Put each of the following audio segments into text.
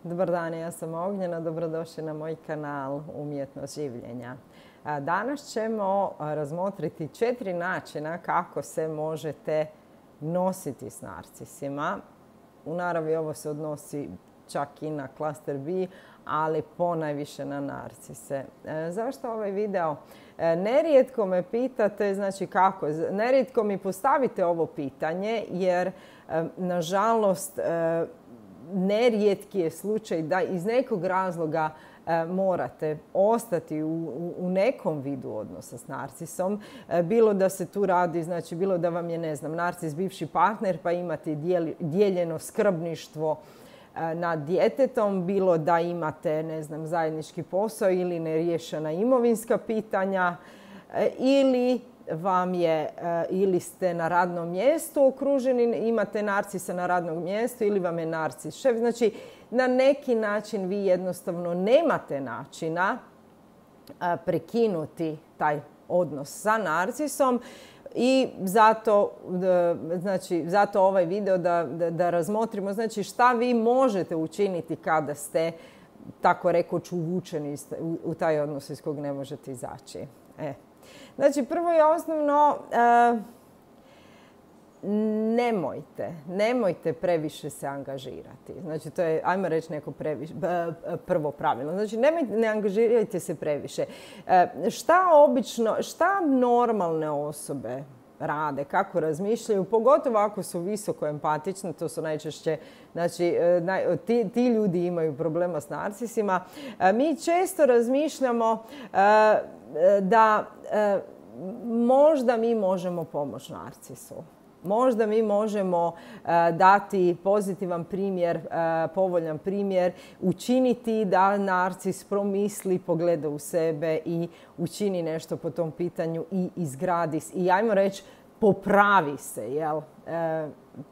Dobar dan, ja sam Ognjena, dobrodošli na moj kanal Umjetnost življenja. Danas ćemo razmotriti 4 načina kako se možete nositi s narcisima. U naravi ovo se odnosi čak i na klaster B, ali ponajviše na narcise. Zašto ovaj video? Nerijetko me pitate, znači kako? Nerijetko mi postavite ovo pitanje jer, nažalost, nerijetki je slučaj da iz nekog razloga morate ostati u nekom vidu odnosa s narcisom. Bilo da se tu radi, znači bilo da vam je, ne znam, narcis bivši partner pa imate dijeljeno skrbništvo nad djetetom, bilo da imate, ne znam, zajednički posao ili neriješena imovinska pitanja, ili ste na radnom mjestu okruženi, imate narcisa na radnom mjestu ili vam je narcis šef. Znači, na neki način vi jednostavno nemate načina prekinuti taj odnos sa narcisom i zato ovaj video da razmotrimo, znači, šta vi možete učiniti kada ste, tako rekoć, uvučeni u taj odnos iz kog ne možete izaći. Znači, prvo i osnovno, nemojte previše se angažirati. Znači, to je, ajmo reći, neko prvo pravilo. Znači, ne angažirajte se previše. Šta normalne osobe rade, kako razmišljaju, pogotovo ako su visoko empatični, to su najčešće, znači, ti ljudi imaju problema s narcisima. Mi često razmišljamo da možda mi možemo pomoći narcisu. Možda mi možemo dati pozitivan primjer, povoljan primjer, učiniti da narcis promisli, pogleda u sebe i učini nešto po tom pitanju i izgradi i, ajmo reći, popravi se, jel?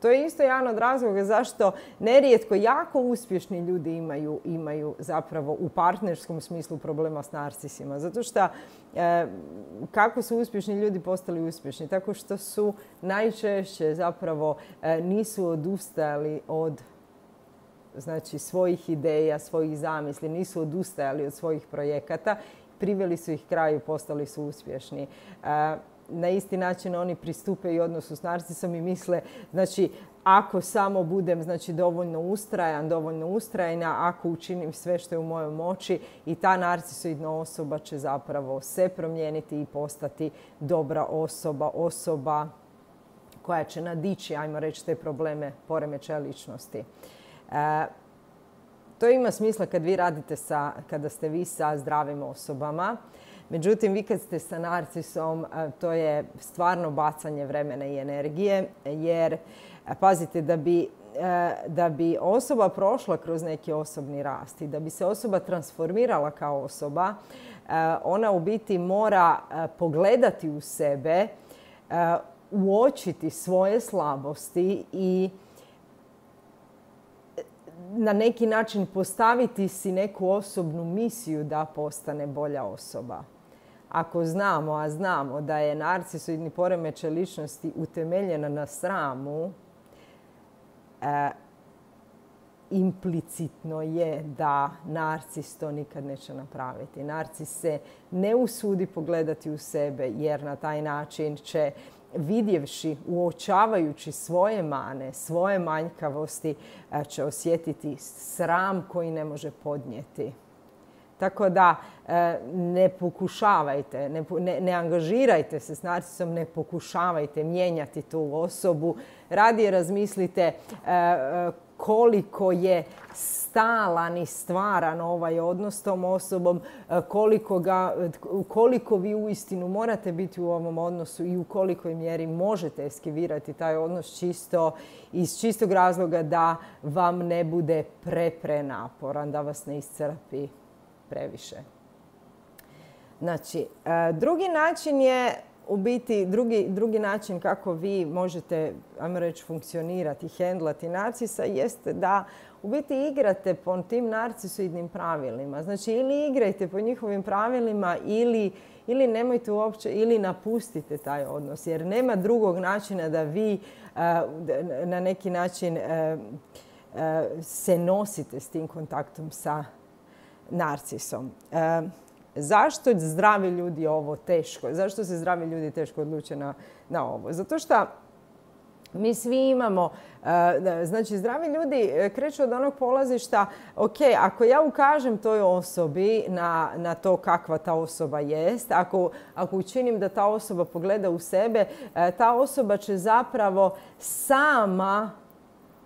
To je isto jedan od razloga zašto nerijetko jako uspješni ljudi imaju zapravo u partnerskom smislu problema s narcisima. Zato što kako su uspješni ljudi postali uspješni? Tako što su najčešće zapravo nisu odustajali od, znači, svojih ideja, svojih zamisli, nisu odustajali od svojih projekata, priveli su ih kraju, postali su uspješni. Na isti način oni pristupe i odnosu s narcisom i misle, znači, ako samo budem, znači, dovoljno ustrajna, ako učinim sve što je u mojoj moći, i ta narcisoidna osoba će zapravo se promijeniti i postati dobra osoba koja će nadići, ajmo reći, te probleme poremećaja ličnosti. To ima smisla kad vi radite kada ste vi sa zdravim osobama. Međutim, vi kad ste sa narcisom, to je stvarno bacanje vremena i energije, jer, pazite, da bi osoba prošla kroz neki osobni rast i da bi se osoba transformirala kao osoba, ona u biti mora pogledati u sebe, uočiti svoje slabosti i na neki način postaviti si neku osobnu misiju da postane bolja osoba. Ako znamo, a znamo da je narcisoidni poremećaj ličnosti utemeljena na sramu, implicitno je da narcis to nikad neće napraviti. Narcis se ne usudi pogledati u sebe jer na taj način će, vidjevši, uočavajući svoje mane, svoje manjkavosti, će osjetiti sram koji ne može podnijeti. Tako da ne pokušavajte, ne angažirajte se s narcisom, ne pokušavajte mijenjati tu osobu. Radije razmislite koliko je stalan i stvaran ovaj odnos s tom osobom, koliko vi uistinu morate biti u ovom odnosu i u kolikoj mjeri možete eskivirati taj odnos iz čistog razloga da vam ne bude prenaporan, da vas ne iscrpi previše. Znači, drugi način je, u biti, drugi način kako vi možete, ajmo reći, funkcionirati, hendlati narcisa, jeste da u biti igrate po tim narcisoidnim pravilima. Znači, ili igrajte po njihovim pravilima ili nemojte uopće, ili napustite taj odnos. Jer nema drugog načina da vi na neki način se nosite s tim kontaktom sa narcisom. Zašto zdravi ljudi ovo teško? Zašto se zdravi ljudi teško odluče na ovo? Zato što mi svi imamo, znači zdravi ljudi kreću od onog polazišta, ok, ako ja ukažem toj osobi na to kakva ta osoba jest, ako učinim da ta osoba pogleda u sebe, ta osoba će zapravo sama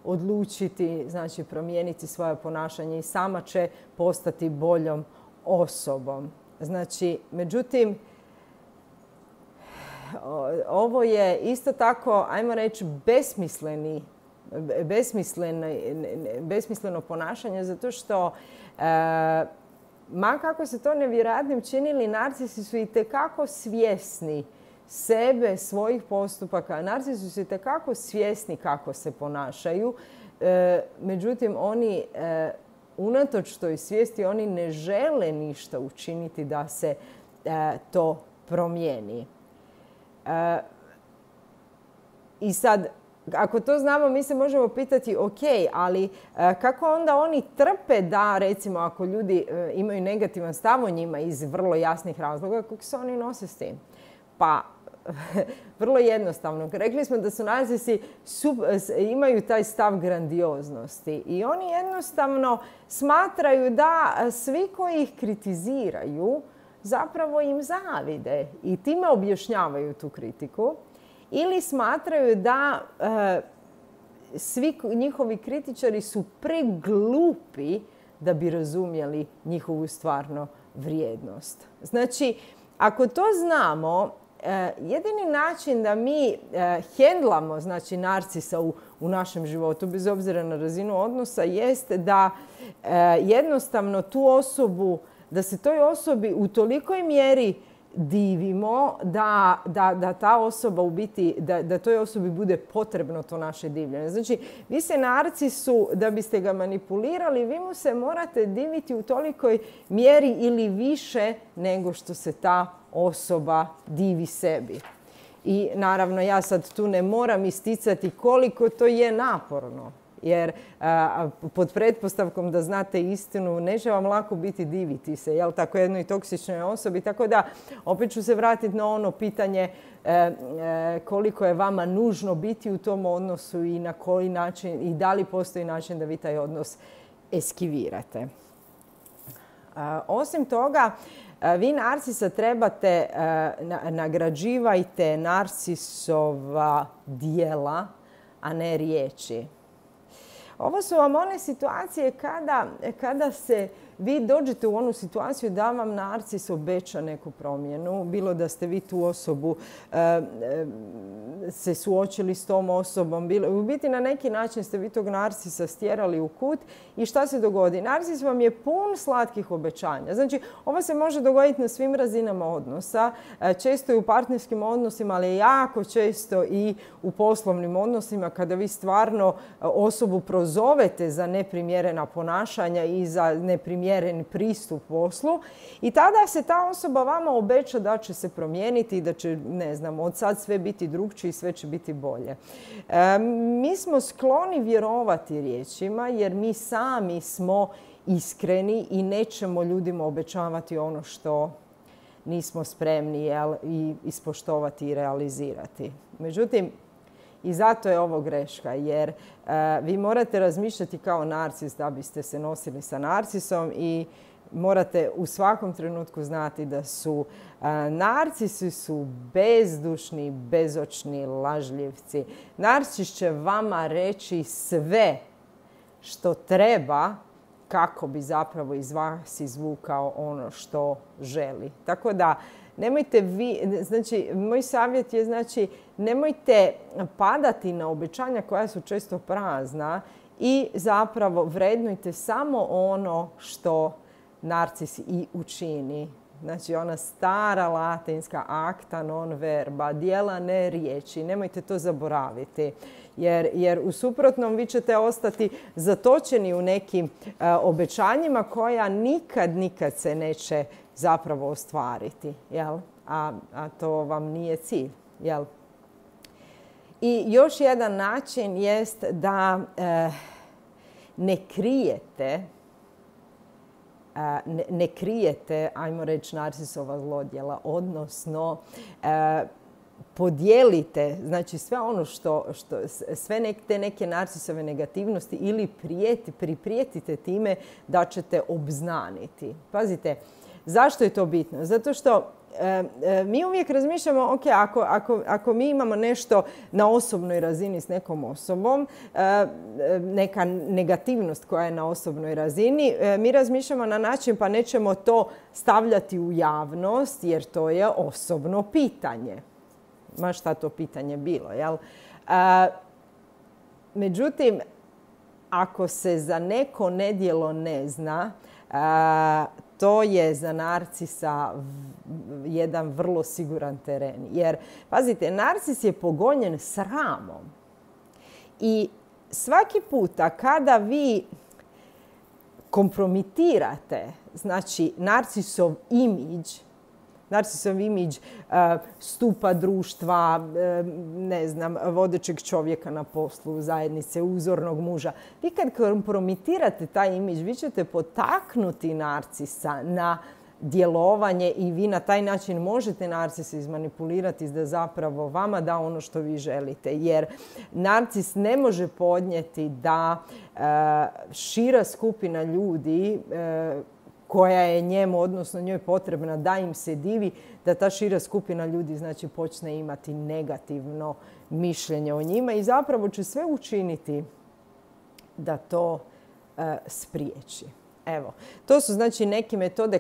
odlučiti, znači promijeniti svoje ponašanje i sama će postati boljom osobom. Znači, međutim, ovo je isto tako, ajmo reći, besmisleno ponašanje, zato što ma kako se to nevjerojatnim činili, narcisi su itekako svjesni sebe, svojih postupaka. Narcisi su itekako svjesni kako se ponašaju. Međutim, oni, unatoč toj svijesti, oni ne žele ništa učiniti da se to promijeni. I sad, ako to znamo, mi se možemo pitati, ok, ali kako onda oni trpe da, recimo, ako ljudi imaju negativan stav o njima iz vrlo jasnih razloga, kako se oni nose s tim? Pa, vrlo jednostavno. Rekli smo da su narcisi imaju taj stav grandioznosti i oni jednostavno smatraju da svi koji ih kritiziraju zapravo im zavide i time objašnjavaju tu kritiku, ili smatraju da svi njihovi kritičari su preglupi da bi razumjeli njihovu stvarno vrijednost. Znači, ako to znamo, jedini način da mi hendlamo, znači, narcisa u našem životu, bez obzira na razinu odnosa, jest da jednostavno tu osobu, da se toj osobi u tolikoj mjeri divimo da ta osoba u biti, da toj osobi bude potrebno to naše divljenje. Znači, vi se narcisu, da biste ga manipulirali, vi mu se morate diviti u tolikoj mjeri ili više nego što se ta osoba divi sebi. I naravno, ja sad tu ne moram isticati koliko to je naporno. Jer pod pretpostavkom da znate istinu, neće vam lako biti diviti se, jel, tako jednoj toksičnoj osobi. Tako da, opet ću se vratiti na ono pitanje koliko je vama nužno biti u tom odnosu i na koji način i da li postoji način da vi taj odnos eskivirate. Osim toga, vi narcisa trebate, nagrađivajte narcisova djela, a ne riječi. Ovo su vam one situacije kada se vi dođete u onu situaciju da vam narcis obeća neku promjenu, bilo da ste vi tu osobu se suočili s tom osobom, u biti na neki način ste vi tog narcisa stjerali u kut i šta se dogodi? Narcis vam je pun slatkih obećanja. Znači, ovo se može dogoditi na svim razinama odnosa, često i u partnerskim odnosima, ali jako često i u poslovnim odnosima kada vi stvarno osobu prozovete za neprimjerena ponašanja i za neprimjeren pristup poslu i tada se ta osoba vama obeća da će se promijeniti i da će, ne znam, od sad sve biti drukčije i sve će biti bolje. Mi smo skloni vjerovati riječima jer mi sami smo iskreni i nećemo ljudima obećavati ono što nismo spremni i ispoštovati i realizirati. Međutim, i zato je ovo greška, jer vi morate razmišljati kao narcis da biste se nosili sa narcisom i morate u svakom trenutku znati da su narcisi su bezdušni, bezočni lažljivci. Narcis će vama reći sve što treba kako bi zapravo iz vas izvukao ono što želi. Tako da nemojte vi, znači moj savjet je, znači nemojte padati na obećanja koja su često prazna i zapravo vrednujte samo ono što narcis i učini. Znači ona stara latinska acta non verba, djela ne riječi. Nemojte to zaboraviti. Jer u suprotnom vi ćete ostati zatočeni u nekim obećanjima koja nikad se neće zapravo ostvariti. Jel? A to vam nije cilj. Jel? I još jedan način jest da ne krijete, ajmo reći, narcisova zlodjela, odnosno podijelite, znači sve ono sve te neke narcisove negativnosti ili priprijetite time da ćete obznaniti. Pazite, zašto je to bitno? Zato što mi uvijek razmišljamo, ok, ako mi imamo nešto na osobnoj razini s nekom osobom, neka negativnost koja je na osobnoj razini, mi razmišljamo na način pa nećemo to stavljati u javnost jer to je osobno pitanje. Ma šta to pitanje bilo, jel? Međutim, ako se za neko nedjelo ne zna, to je za narcisa jedan vrlo siguran teren. Jer, pazite, narcis je pogonjen sramom. I svaki puta kada vi kompromitirate, znači, narcisov imidž stupa društva, ne znam, vodećeg čovjeka na poslu, zajednice, uzornog muža. Vi kad kompromitirate taj imidž, vi ćete potaknuti narcisa na djelovanje i vi na taj način možete narcisa izmanipulirati da zapravo vama da ono što vi želite. Jer narcis ne može podnijeti da šira skupina ljudi koja je njemu, odnosno njoj potrebna da im se divi, da ta šira skupina ljudi znači počne imati negativno mišljenje o njima i zapravo će sve učiniti da to spriječi. Evo, to su znači neke metode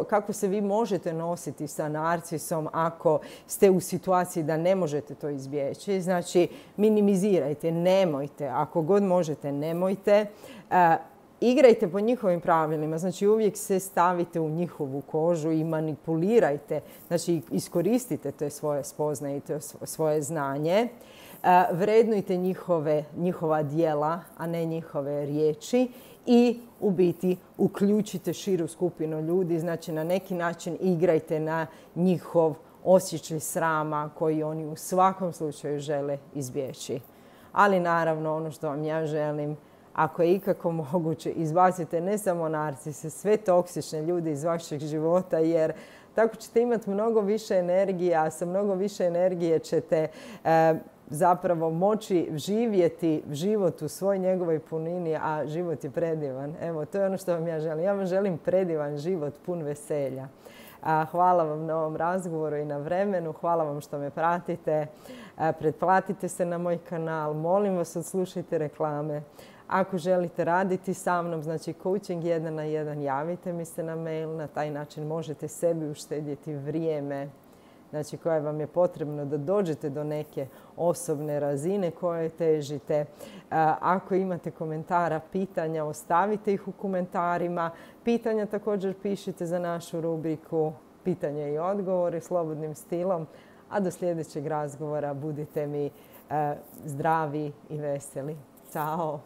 kako se vi možete nositi sa narcisom ako ste u situaciji da ne možete to izbjeći. Znači, minimizirajte, nemojte, ako god možete, nemojte. Igrajte po njihovim pravilima, znači uvijek se stavite u njihovu kožu i manipulirajte, znači iskoristite te svoje spoznaje i to svoje znanje. Vrednujte njihova djela, a ne njihove riječi i u biti uključite širu skupinu ljudi, znači na neki način igrajte na njihov osjećaj srama koji oni u svakom slučaju žele izbjeći. Ali naravno ono što vam ja želim, ako je ikako moguće, izbacite ne samo narcise, sve toksične ljude iz vašeg života, jer tako ćete imati mnogo više energije, a sa mnogo više energije ćete zapravo moći živjeti život u svoj njegovoj punini, a život je predivan. Evo, to je ono što vam ja želim. Ja vam želim predivan život, pun veselja. Hvala vam na ovom razgovoru i na vremenu. Hvala vam što me pratite. Pretplatite se na moj kanal. Molim vas, odslušajte reklame. Ako želite raditi sa mnom, znači coaching 1 na 1, javite mi se na mail. Na taj način možete sebi uštedjeti vrijeme, znači koje vam je potrebno da dođete do neke osobne razine koje težite. Ako imate komentara, pitanja, ostavite ih u komentarima. Pitanja također pišite za našu rubriku Pitanje i odgovori slobodnim stilom. A do sljedećeg razgovora budite mi zdravi i veseli. Ćao!